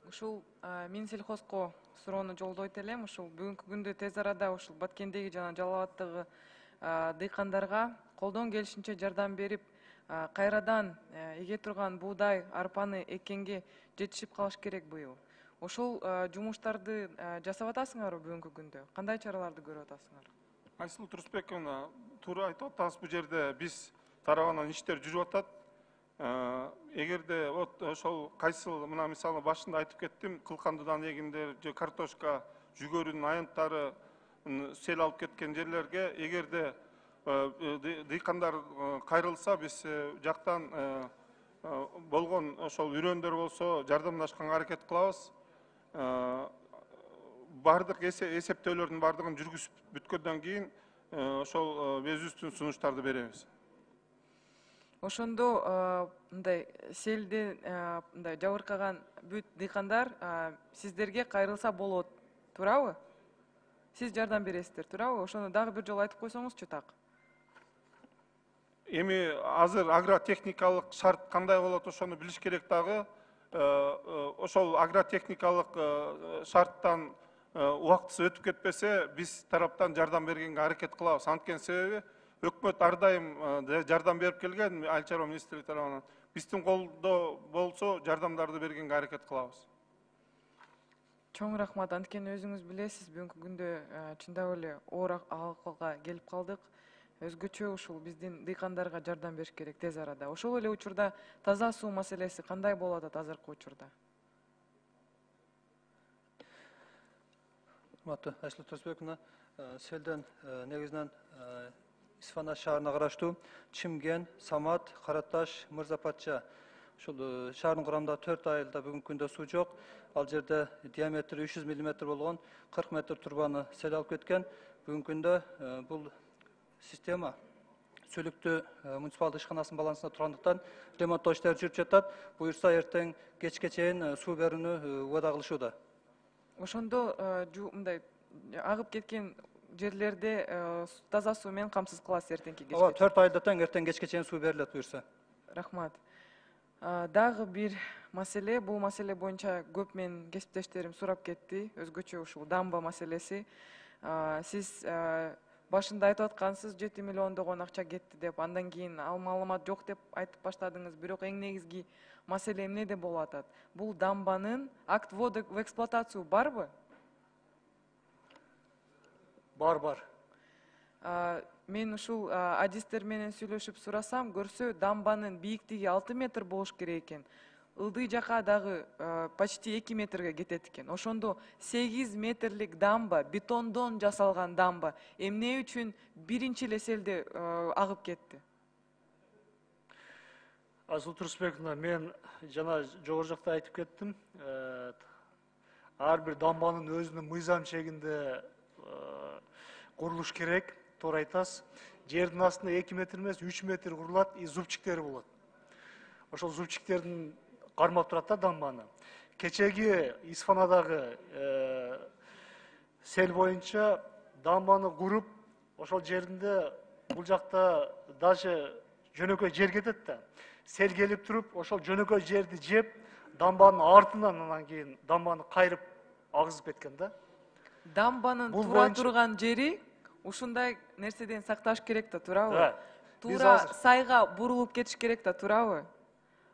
Ушул Минсельхозко суроону жолдойт элем. Ушул бүгүнкү күндө тез арада ушул Баткендеги жана Жалал Абадтагы дыйкандарга колдон келишинче жардам берип, кайрадан эге турган буудай, арпаны эккенге жетишип калыш керек быйыл. Ошол жумуштарды жасап атасыңарбы бүгүнкү күндө? Кандай чараларды көрүп атасыңар? Айсыл Турсбековна, туура айтып атасыз, бул жерде биз тарабынан иштер жүрүп атат. Эгерде ошол кайсыл мына мисалы башында айтып кеттим, кылкандыдан эгиндер же картошка, жүгөрүнүн аянттары сел алып кеткен жерлерге эгерде дыйкандар кайрылса, биз жактан болгон ошол үрөндөр болсо жардамдашканга аракет кылабыз. Бардык эсептөөлөрдүн бардыгын жүргүзүп бүткөндөн кийин ошол өзүбүздүн сунуштарды беребиз. Ошондо мындай селди мындай жабыркаган бүт дыйкандар сиздерге кайрылса болот, туурабы? Сиз жардам бересиздер, туурабы? Ошону дагы бир жолу айтып койсоңузчу так. Эми азыр агротехникалык шарт кандай болот, ошону билиш керек дагы. Ошол агротехникалык шарттан убактысы өтүп кетпесе, биз тараптан жардам бергенге аракет кылабыз. Анткени себеби өкмөт ар дайым жардам берип келген, Айыл чарба министрлиги тарабынан. Биздин колдо болсо жардамдарды бергенге аракет кылабыз. Чоң рахмат. Анткени өзүңүз билесиз, бүгүнкү күндө чындап эле оор акылга келип калдык. Өзгөчө ушул биздин дыйкандарга жардам бериш керек тез арада. Ошол эле учурда таза суу маселеси кандай болуп атат азыркы учурда? Айсыл Турсбековна, селден негизинен Исфана шаарына караштуу Чимген, Самат, Караташ, Мырза Патча ушул шаардын курамында 4 айылда бүгүнкү күндө суу жок. Ал жерде диаметри 300 мм болгон 40 метр турбаны сел алып кеткен. Бүгүнкү күндө бул система Сөлүктүү муниципалдык ишканасынын балансында тургандыктан ремонттоо иштери жүрүп жатат. Буюрса эртең кечке чейин суу берүүнү убада кылышууда. Ошондо мындай агып кеткен жерлерде таза суу менен камсыз кыласыз эртеңки кечке. Ооба, 4 айда тең эртең кечке чейин суу берилет буюрса. Рахмат. Дагы бир маселе, бул маселе боюнча көп менин кесиптештерим сурап кетти. Өзгөчө ушул дамба маселеси. Сиз башында айтып аткансыз 7 миллиондогон акча кетти деп, андан кийин ал маалымат жок деп айтып баштадыңыз. Бирок эң негизги маселе эмнеде болуп атат? Бул дамбанын акт ввода в эксплуатацию барбы? Бар. Мен ушул адистер менен сүйлөшүп сурасам, көрсө дамбанын бийиктиги 6 метр болуш керек экен. Ылдый жака дагы почти 2 метрге кетет экен. Ошондо 8 метрлик дамба, бетондон жасалган дамба эмне үчүн биринчи эле селде агып кетти? Айсыл Турсбековна, мен жана жогору жакта айтып кеттим. Ар бир дамбанын өзүнүн мыйзам чегинде курулуш керек. Туура айтасыз. Жердин астында 2 метр эмес, 3 метр курулат, зубчиктери болот. Ошол зубчиктердин кармап турат да дамбаны. Кечеги Исфанадагы сел боюнча дамбаны куруп, ошол жеринде бул жакта даже жөнөкөй жер кетет да. Сел келип туруп, ошол жөнөкөй жерди жеп, дамбанын артынан анан кийин дамбаны кайрып агызып кеткен да. Дамбанын туура турган жери ушундай нерседен сакташ керек да, туурабы? Туура сайга бурулуп кетиш керек да, туурабы?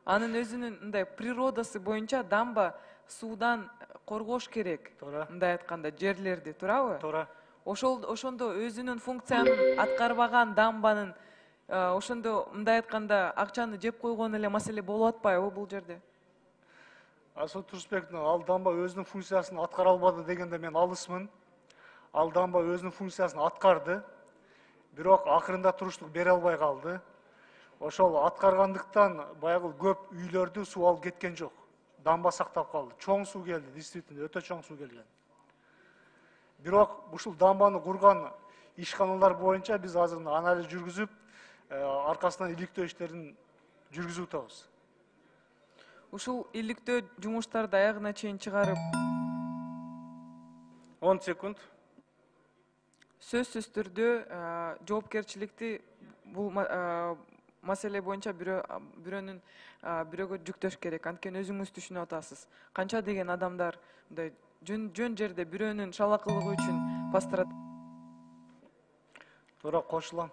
Анын өзүнүн мындай природасы боюнча дамба суудан коргош керек. Мындай айтканда жерлерди, туурабы? Туура. Ошондо өзүнүн функциянын аткарбаган дамбанын ошондо мындай айтканда акчаны жеп койгон эле маселе болуп атпайбы бул жерде? Айсыл Турсбековна, ал дамба өзүнүн функциясын аткара албады дегенде мен алысмын. Ал дамба өзүнүн функциясын аткарды. Бирок акырында туруштук бере албай калды. Ошол аткаргандыктан баягы көп үйлөрдү суу алып кеткен жок. Дамба сактап калды. Чоң суу келди, действительно, өтө чоң суу келген. Бирок ушул дамбаны курган ишканалар боюнча биз азыр анализ жүргүзүп, аркасынан иликтөө иштерин жүргүзүп атабыз. Ушул иликтөө жумуштарды аягына чейин чыгарып 10 секунд. Сөзсүз түрдө жоопкерчиликти бул маселе боюнча бирөөнүн бирөөгө жүктөш керек. Анткени өзүңүз түшүнүп атасыз. Канча деген адамдар мындай жөн жерде бирөөнүн шалакылыгы үчүн пострадать. Туура кошулам.